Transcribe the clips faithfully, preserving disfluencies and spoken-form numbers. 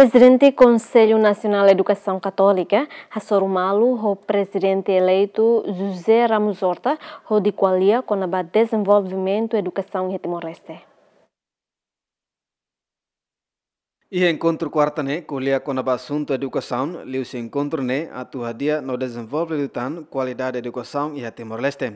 Prezidente Konsellu Nasionál Edukasaun Katólika hasoru malu ho Prezidente eleitu José Ramos Horta hodi ko'alia kona-ba dezenvolvimentu edukasaun iha Timor-Leste. Iha enkontru kuarta ne'e ko'alia kona-ba asuntu edukasaun, liuhusi enkontru ne'e atu hadi'a no dezenvolve liután kualidade edukasaun iha Timor-Leste.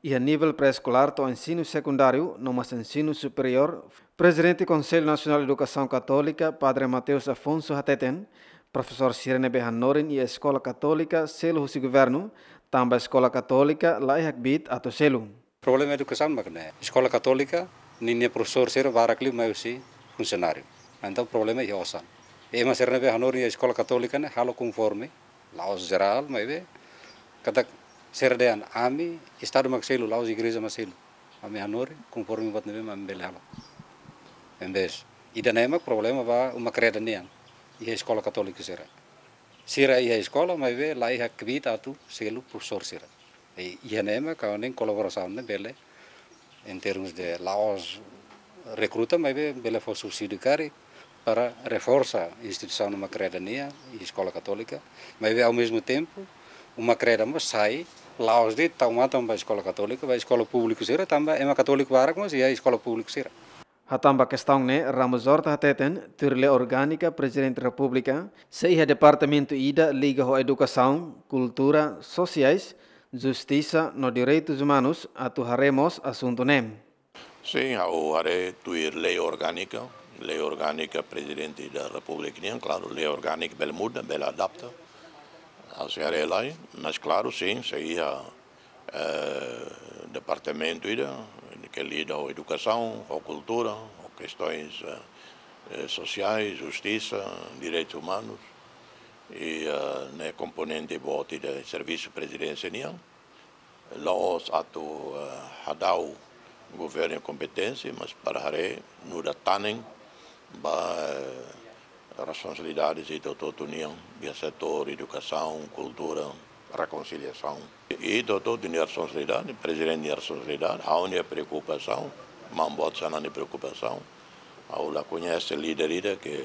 Iha nivel pré-eskolár to'o ensinu sekundáriu no mós ensinu superiór, Prezidente Konsellu Nasionál Edukasaun Katólika, Padre Mateus Afonso hateten, profesór sira ne'ebé hanorin iha eskola katólika selu husi governu, tanba eskola katólika laiha kbiit atu selu. Problema edukasaun mak ne'e. Eskola katólika ninia profesór sira barak liu mai husi funsionáriu. Entaun problema iha osan. Ema sira ne'ebé hanorin iha eskola katólika ne'e halo konforme, la'ós jerál, maibé katak sira dehan ami, Estadu mak selu, la'ós igreja mak selu. Ami hanorin konforme buat ne'ebé mak ami bele halo. Embes. Ida-ne'e mak problema ba uma kreda nian iha eskola katólika sira. Sira iha eskola, maibé laiha kbiit atu selu profesór sira. I, iha ne'e mak ha'u hanoin kolaborasaun ne'e bele, em termos de la'ós rekruta, maibé bele fó subsídiu karik para reforsa instituisaun uma kreda nian, eskola katólika, maibé ao mesmo tempo, uma kreda mós sai, la'ós de'it tau matan ba eskola katólika, ba eskola públiku sira, tanba ema katóliku barak mós iha eskola públiku sira. Hatán ba kestaun ne'e, Ramos Horta hateten, tuir lei orgánika Prezidente Repúblika, sei iha departamentu ida liga ho edukasaun, kultura, sosiais, justisa no direitus umanus atu haree mós asuntu ne'e. Sin, ha'u haree tuir lei orgánika, lei orgánika Prezidente da Repúblika nian, klaru, lei orgánika bele muda, bele adapta. Ha'u sei haree lai, mas klaru, sin, sei iha eh, departamentu ida ke lida ho edukasaun, ho kultura, ho kestoins, eh, eh, sosiais, justisa, direitus umanus, i, eh, ne'e komponente boot ida servisu Prezidénsia nian, la'ós atu, eh, hadau governu kompeténsia, mas para haree nu'udar tanen ba, eh, responsabilidade ida hotu-hotu nian, iha setór edukasaun, kultura, rekonsiliasaun. I hotu-hotu nia responsabilidade, Prezidente nia responsabilidade, ha'u-nia preokupasaun, maun boot sira-nia preokupasaun. Ha'u la koñese líder ida ke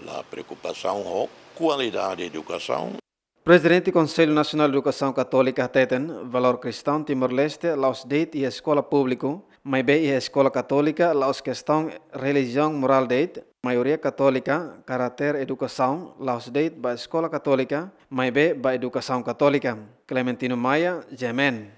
la preokupasaun ho kualidade edukasaun. Prezidente Konsellu Nasionál Edukasaun Katólika hateten, valór kristaun Timor-Leste la'ós de'it iha eskola públiku, maibé iha eskola katólika la'ós kestaun relijiaun morál de'it, maioria katólika, karáter edukasaun la'ós de'it ba eskola katólika, maibé ba edukasaun katólika. Clementino Maia, G M N.